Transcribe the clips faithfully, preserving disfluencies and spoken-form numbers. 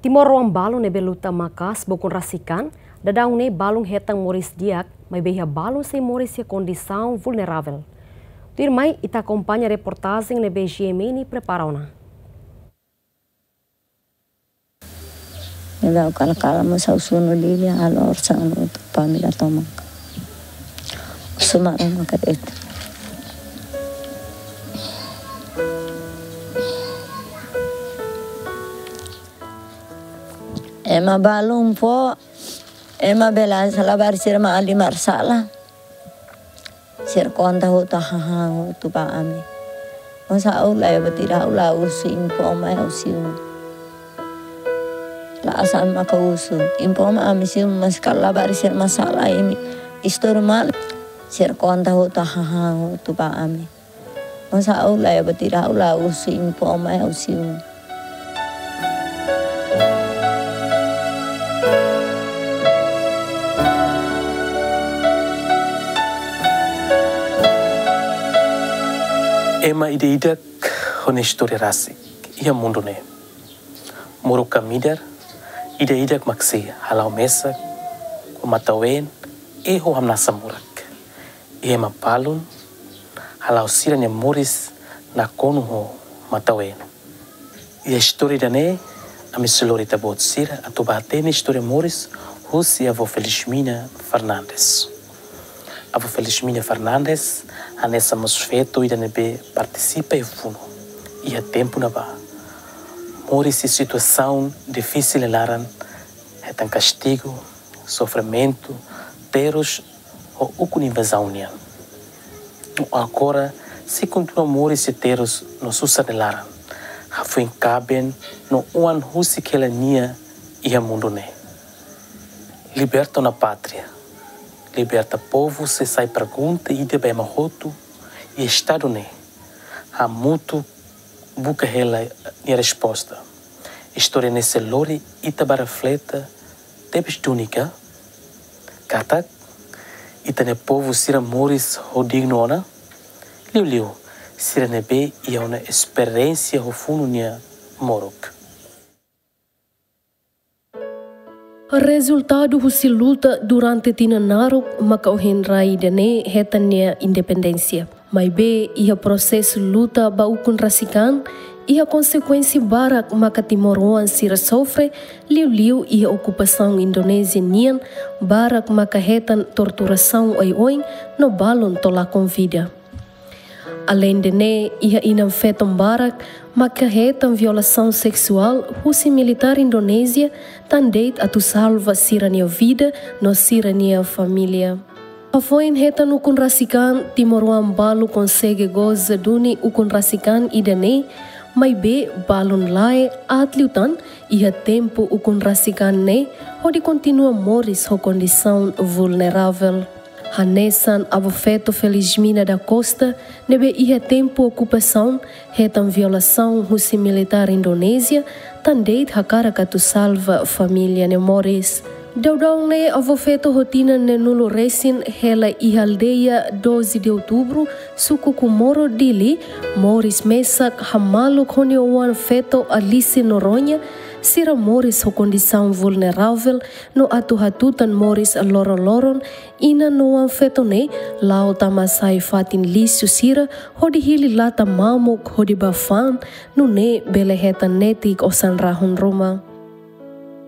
Timoroan balu ne'ebé luta maka'as ba ukun rasik an, daudaun ne'e balun hetan moris di'ak, maibé iha balun sei moris iha kondisaun vulneravel. Tuirmai ita akompaña reportajen ne'ebé G M N prepara ona. Ida kala-kala mós ha'u sunu Dili, halo orasaun ba família tomak. Suma ruma ka et. Ema balun fó, ema bele hanesan labarik sira mak halimar sala. Sira konta hotu, hahán hotu ba ami. Mós ha'u la iha buat ida, ha'u la husu, informa ha'u simu. La hanesan maka husu, informa ami simu, mas kala labarik sira mak sala imi. Istória malu. Sira konta hotu, hahán hotu ba ami. Mós ha'u la iha buat ida, ha'u la husu, informa ha'u simu. Ema ida-idak ho nia istória rasik iha mundu ne'e. Moruk ka midar, ida-idak mak sei hala'o mesak ho matan-ween i ho hamnasa morak. I ema balun hala'o sira-nia moris nakonu ho matan-ween. Iha istória ida-ne'e, ami sei lori ita-boot sira atu bá hatene istória moris husi avó Felizmina Fernandes. Avó Felizmina Fernandes hanesan mós feto ida ne'ebé partisipa iha funu iha tempu ne'ebá. Moris iha situasaun difisil nia laran, hetan kastigu, sofrimentu, terus ho ukun invazaun nian. No agora sei kontinua moris iha terus no susar nia laran. Hafoin kaben no oan husik hela nia iha mundu ne'e. Liberta ona pátria, liberta povu, sei sai pergunta ida ba ema hotu iha estadu ne'e. Hamutuk buka hela nia resposta. Istória ne'e sei lori ita ba reflete tebes duni ka? Katak ita-nia povu sira moris ho dignu ona, liuliu sira ne'ebé iha ona esperiénsia ho funu nia moruk. Rezultadu husi luta durante tinan naruk maka ohin rai ida-ne'e hetan nia independénsia. Maibé iha prosesu luta ba ukun rasik an, iha konsekuénsia barak maka timoroan sira sofre, liuliu iha okupasaun Indonézia nian, barak maka hetan torturasaun oioin no balun to'o lakon vida. Aleinde ne'e, iha inan-feton barak maka hetan violasaun seksuál husi militár Indonézia, tan de'it atu salva sira-nia vida no sira-nia família. Hafoin hetan ukun rasik an, timoroan balu konsege goza duni ukun rasik an ida-ne'e, maibé balun lae aat liután iha tempu ukun rasik an ne'e, hodi kontinua moris ho kondisaun vulneravel. Hanesan avó-feto Felizmina da Costa, ne'ebé iha tempu okupasaun hetan violasaun husi militár Indonézia, tan de'it hakarak atu salva família nia moris. Daudaun ne'e avó-feto ho tinan neenulu resin hela iha aldeia Doze de Outubro, suku Comoro, Dili, moris mesak hamaluk ho nia oan-feto Alice Noronha, sira moris ho kondisaun vulneravel no atu hatutan moris loron-loron, inan no oan-feto ne'e la'o tama sai fatin lixu sira hodi hili lata mamuk hodi bá fa'an, nune'e bele hetan netik osan rahun ruma.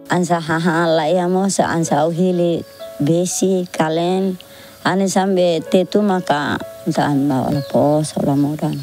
Hanesan hahán la iha mós, hanesan ha'u hili besi, kaleen, hanesan be tetu maka hanesan ha'u la pos, ha'u la modan.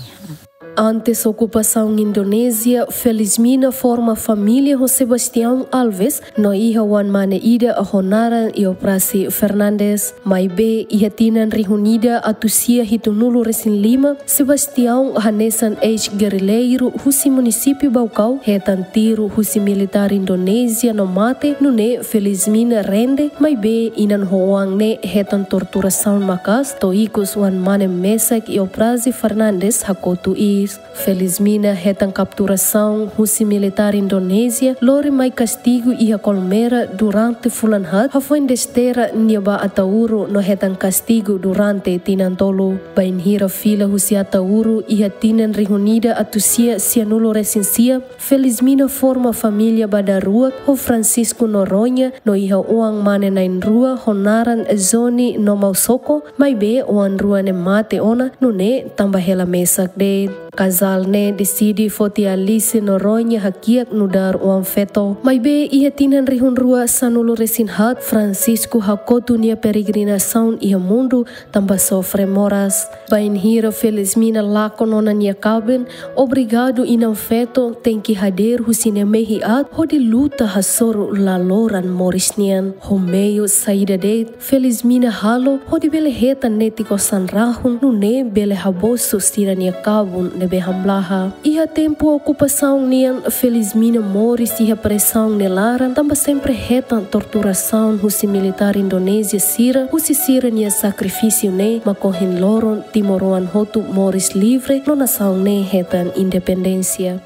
Antes okupasaun Indonézia, Felizmina forma família ho Sebastião Alves, no iha oan-mane ida ho naran Euprásia Fernandes. Maibé iha tinan rihun ida atus sia hitunulu resin lima, Sebastião, hanesan eis-gerrilleiru husi munisípiu Baucau, hetan tiru husi militár Indonézia no mate, nune'e Felizmina rende, maibé inan ho oan ne'e hetan torturasaun maka'as, to'o ikus oan-mane mesak Euprásia Fernandes hakotu i. Felizmina hetan kapturasaun husi militár Indonézia, lori mai kastigu iha Kolmera durante fulan haat, hafoin desterra nia ba Ataúro no hetan kastigu durante tinan tolu. Bainhira fila husi Ataúro iha tinan rihun ida atus sia sianulu resin sia, Felizmina forma família ba daruak ho Francisco Noronha no iha oan mane na'in-rua ho naran Johnny no Mausoko, maibé oan rua ne'e mate ona, nune'e tanba hela mesak de'it. Kazál ne'e deside foti Alice Noronha hakiak nu'udar oan feto. Maibé iha tinan rihun rua sanulu resin haat, Francisco hakotu nia peregrinasaun iha mundu tanba sofre moras. Bainhira Felizmina lakon ona nia kaben, obrigadu inan feto tenke hadeer husi nia mehi aat hodi luta hasoru laloran moris nian. Ho meiu saida de'it Felizmina halo hodi bele hetan netik osan rahun, nune'e bele habosu sira-nia kabun ne'ebé hamlaha. Iha tempu okupasaun nian, Felizmina moris iha presaun nia laran, tanba sempre hetan torturasaun husi militár Indonézia sira, husi sira-nia sakrifísiu ne'e mak ohin loron timoroan hotu moris livre no nasaun ne'e hetan independénsia.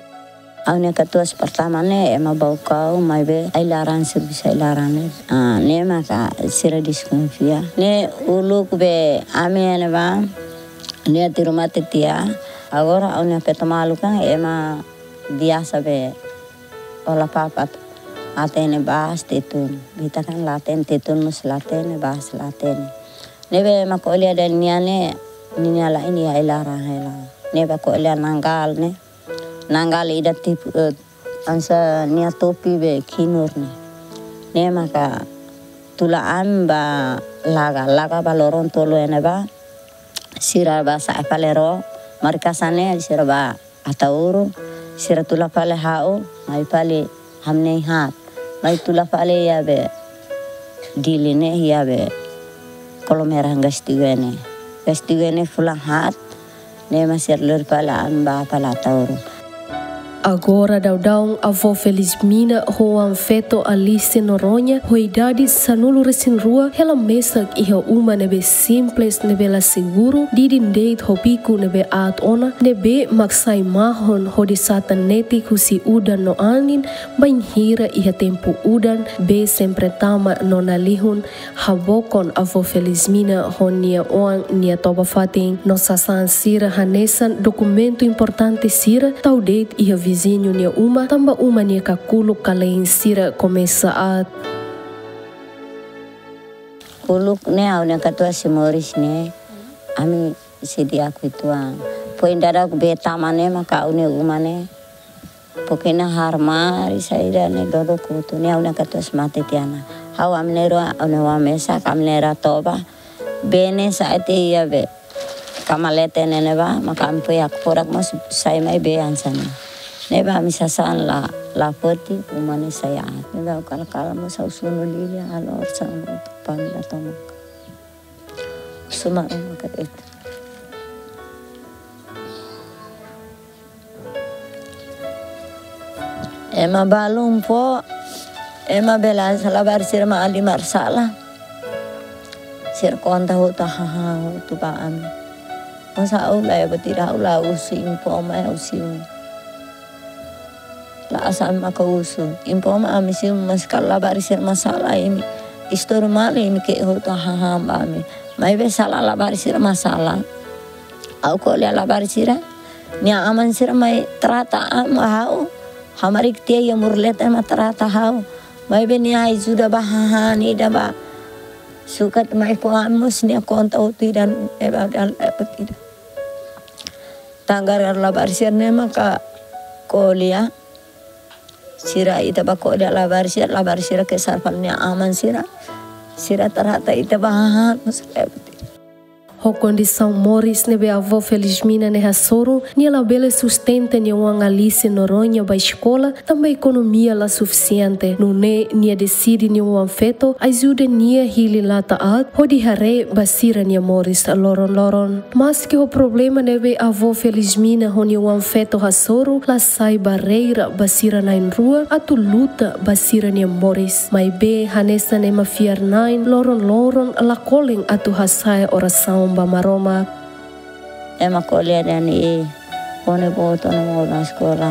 Ha'u-nia katuas pertama ne'e ema Baucau, maibé ai-laran, servisu ai-laran ne'e. Ah, ne'e maka sira deskonfia. Ne'e uluk be ami ne'ebá, ne'e tiru mate tiha. Agora ha'u-nia feto maluk kan ema biasa be hola papat. Hatene bas tetun. Ita kan la hatene tetun, mós la hatene bas la hatene. Ne'ebé ema ko'alia dehan nia ne'e, nia la iha ai-laran hela. Ne'ebé ko'alia nanggala ne'e. Nanggala ida tipu, eh, hanesan nia topi be kinur ne'e. Ne'e maka tula ami ba Laga, Laga ba loron tolu iha ne'ebá. Sira ba sa'e fali ró, markasan ne'e sira ba Ataúro, sira tula fali ha'u, mai fali hamnei haat. Mai tula fali iha be Dili ne'e, iha be Kolomera kastigu ne'e. Kastigu ne'e fulan haat, ne'e mak sira lori fali ami ba fali Ataúro. Agora daudaun avó Felizmina ho oan feto Alice Noronha, ho idade sanulu resin rua, hela mesak iha uma ne'ebé simples, ne'ebé la seguru, didin de'it ho biku ne'ebé aat ona, ne'ebé mak sai mahon hodi satan netik husi udan no anin, bainhira iha tempu udan, bee sempre tama no nalihun, habokon avó Felizmina ho nia oan nia toba-fatin. No sasán sira hanesan dokumentu importante sira tau de'it iha viziñu nia uma, tanba uma nia kakuluk kalein sira komesa aat. Uluk ne'e ha'u-nia katuas sei moris ne'e, ami sei di'ak uitoan. Foin daudauk bee tama ne'e maka ha'u-nia uma ne'e, pokoknya harmari saida ne'e dodok hotu, ne'e ha'u-nia katuas mate tiha ona. Ha'u ami na'in-rua, ha'u-nia oan mesak, ami na'in-rua toba. Bee ne'e sa'e tiha iha be kama leten ne'ebá, maka ami foin hakfodak mós sai mai bee hanesan ne'e. Ne'ebá ami sasán la, la foti, uma ne'e sai aat. Ne'ebá ha'u kala-kala mós ha'u sunu liu, halo orasaun ba família tomak. Suma uma ka itu. Ema balun fó, ema bele hanesan labarik sira mak halimar sala. Sira konta hotu, haha, hotu ba ami. Mós ha'u la iha buat ida, ha'u la husu, impoma ha'u simu. La hanesan ami maka husu. Impoma ami simu, mas kala labarik sira mak sala imi. Istori malu imi ke'e hotu, haha, ba ami. Maibé sala labarik sira mak sala. Ha'u ko'alia labarik sira. Nia aman sira mai trata ami, ha'u. Hamarik tiha iha muru leten mak trata ha'u. Maibé nia ajuda ba hahán ida ba sukat mai fó ami mós nia konta hotu ida, eba dal eba ida. Tangar labarik sira ne'e maka ko'alia. Sira ita ba ko'alia labarik sira, labarik sira ke sarfal nia aman sira. Sira trata ita ba hahán mós eba ida. Ho kondisaun moris ne'ebé avó Felizmina ne'e hasoru, nia labele sustenta nia oan Alice Noronha ba eskola, tanba ekonomia la sufisiente. Nune'e nia deside nia oan feto ajuda nia hili lata aat, hodi haree ba sira-nia moris loron-loron. Maski ho problema ne'ebé avó Felizmina ho nia oan feto hasoru, la sai barreira ba sira na'in-rua atu luta ba sira-nia moris. Maibé hanesan ema fiar-na'in, loron-loron la kolen atu hasa'e orasaun ba Maromak. Ema ko'alia dehan, eh, Ne'ebé boot ona mak ha'u la eskola.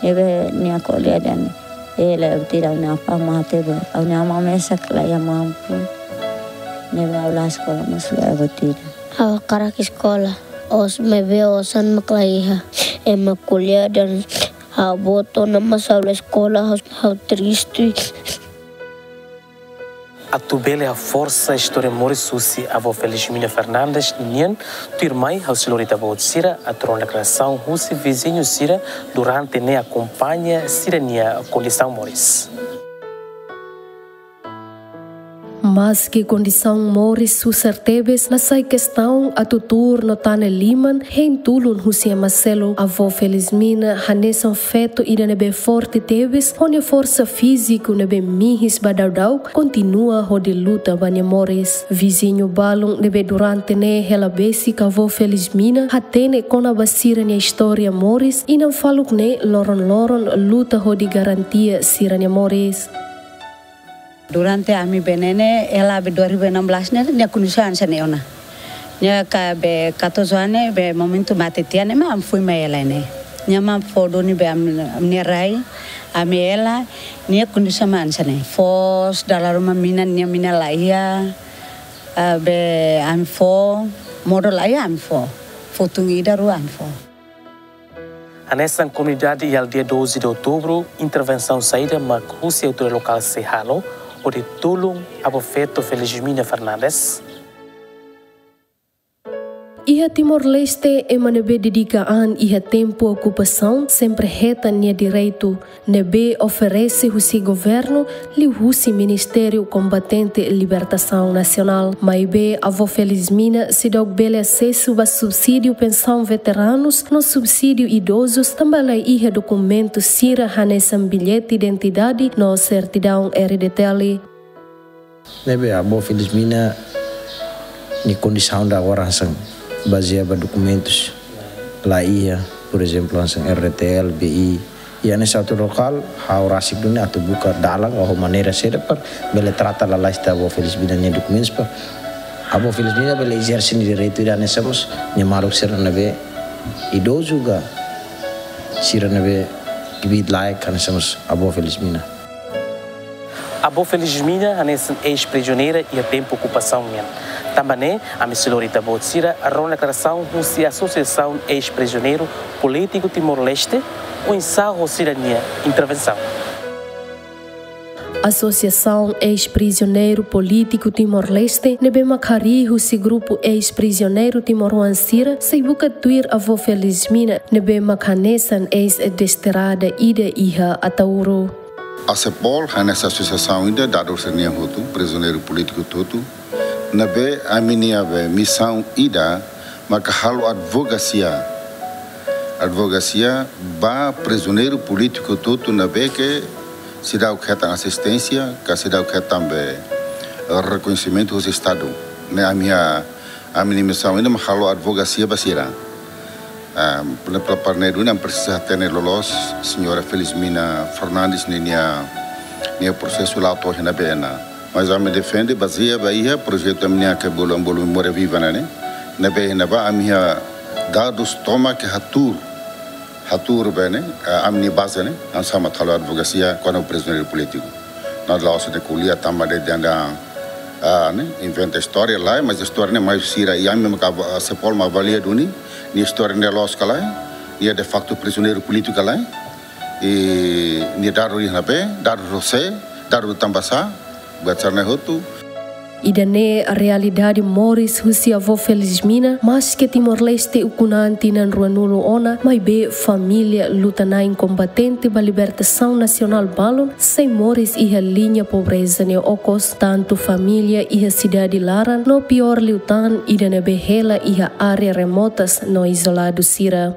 Ne'ebé nia ko'alia dehan, eh, la buat ida, ha'u-nia apá mate be, ha'u-nia amá mesak la iha mampu. Ne'ebé ha'u la eskola mós la buat ida. Ha'u hakarak eskola, maibé osan mak la iha. Ema ko'alia dehan ha'u boot ona mós ha'u la eskola, ha'u, ha'u triste. Atu bele haforsa istória moris husi avó Felizmina Fernandes nian, tuirmai ha'u sei lori ita-boot sira atu rona deklarasaun husi viziñu sira durante ne'e akompaña sira-nia kondisaun moris. Maske kondisaun moris susar tebes, la sai kestaun atu tuur no tane liman hein tulun husi ema seluk. Avó Felizmina hanesan feto ida ne'ebé forte tebes, ho nia forsa fíziku ne'ebé mihis ba daudauk, kontinua hodi luta ba nia moris. Viziñu balun ne'ebé durante ne'e hela besik avó Felizmina hatene kona-ba sira-nia istória moris, inan faluk ne'e loron-loron luta hodi garantia sira-nia moris. Durante ami bele ne'e, hela be dua ribu enam belas ne'e, nia kondisaun hanesan ne'e ona. Nia ka be katorze anos ne'e, be momentu mate tiha ne'e mak ami foin mai hela ne'e. Nia mak fó duni be ami, ami-nia rai, ami hela, nia kondisaun mak hanesan ne'e. Foos, dala ruma mina, nia mina la iha, ah, be ami fó, modo la iha ami fó. Fó tun ida rua ami fó. Hanesan komunidade iha aldeia doze de Outubro, intervensaun saida mak husi autoridade lokál sei halo hodi tulun avó feto Felizmina Fernandes? Iha Timor-Leste, ema ne'ebé dedika an iha tempu okupasaun sempre hetan nia direitu ne'ebé oferese husi governu, liuhusi Ministériu Kombatente Libertasaun Nasionál. Maibé, avó Felizmina seidauk bele asesu ba subsídiu pensaun veteranus no subsídiu idozus, tanba la iha dokumentu sira hanesan billete identidade no sertidaun R D T L. Ne'ebé avó Felizmina nia kondisaun agora hanesan bazeia ba dokumentus la iha, por ezemplu, hanesan R D T L, B I. I hanesan autoridade lokál, ha'u rasik duni atu buka dalan ou maneira saida para bele trata lalais tiha avó Felizmina nia dokumentus para avó Felizmina bele ezerse nia direitu ida hanesan mós nia maluk sira ne'ebé idozu ka sira ne'ebé kbiit-laek hanesan mós avó Felizmina. Avó Felizmina hanesan eis-prizoneira iha tempu okupasaun nian. Tanba ne'e, ami sei lori ita-boot sira rona deklarasaun husi Asosiasaun Eis-Prizioneiru Polítiku Timor-Leste, oinsá ho sira-nia intervensaun. Asosiasaun Eis-Prizioneiru Polítiku Timor-Leste, ne'ebé mak harii husi grupu eis-prizioneiru timoroan sira, sei buka tuir avó Felizmina, ne'ebé mak hanesan eis-desterrada ida iha Ataúro. ASEPOL hanesan asosiasaun ida dadu sira-nian hotu, prizioneiru polítiku hotu, ne'ebé ami-nia be misaun ida maka halo advokasia. Advokasia ba prizioneiru polítiku hotu ne'ebé ke seidauk hetan asisténsia, ka seidauk hetan be rekoñesimentu husi Estadu. Ne'e ami-nia, ami-nia misaun ida mak halo advokasia ba sira. Ah, pela, pela parte ne'e duni ami presiza hatene loloos señora Felizmina Fernandes ninia, nia prosesu la'o to'o iha ne'ebé ona. Mas ami defende bazeia ba iha projetu ami-nian ke bolu, ami bolu Memória Viva ne'e, ne'ebé iha ne'ebá ami iha dadus tomak ke hatuur, hatuur be ne'e, eh, ami-nia baze ne'e, ami sama halo advokasia kona-ba prizioneiru polítiku. Ne'e la'ós de'it ko'alia tanba de'it dehan, ah, ne'e, inventa istória lae, mas istória ne'e mai husi sira, i ami maka ava-, ASEPOL mak avalia duni, nia istória ne'e loos ka lae, nia de facto prizioneiru polítiku ka lae, i nia dadu iha ne'ebé, dadu husi sé, dadu tanba sá, buat sira-ne'e hotu. Ida-ne'e realidade moris husi avó Felizmina, maske Timor-Leste ukun-an tinan ruanulu ona, maibé família luta-na'in kombatente ba libertasaun nasionál balun sei moris iha liña pobreza nia okos, tantu família iha sidade laran no piór liután ida ne'ebé hela iha área remotas no izoladu sira.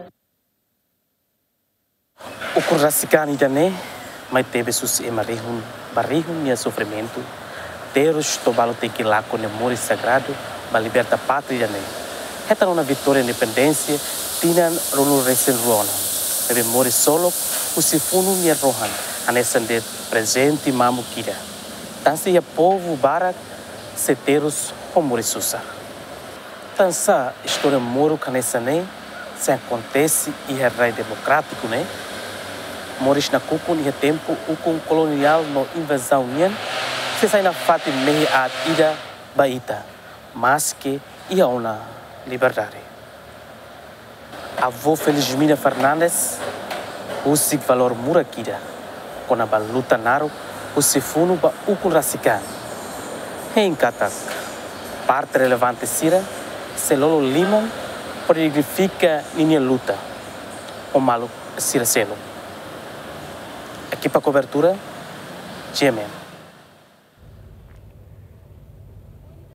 Ukun rasik an ida-ne'e mai tebes husi ema rihun ba rihun nia sofrimentu, terus to'o balu tenke lakon nia moris sagradu ba liberta pátria ida-ne'e. Hetan ona vitória independénsia tinan ruanulu resin rua ona, ne'ebé moris solok husi funun nia rohan, hanesan de'it prezente mamuk ida. Tansá iha povu barak sei terus ho moris susar. Tansá istória moruk hanesan ne'e Sei akontese iha rai demokrátiku ne'e, moris nakukun iha tempu ukun koloniál no invazaun nian, sei sai nafatin mehi aat ida ba ita, maske iha ona liberdade. Avó Felizmina Fernandes husik valór murak ida kona-ba luta naruk husi funu ba ukun rasik an. Hein katak parte relevante sira sei lolo liman hodi dignifika ninia luta ho maluk sira seluk. Ekipa kobertura, G M N.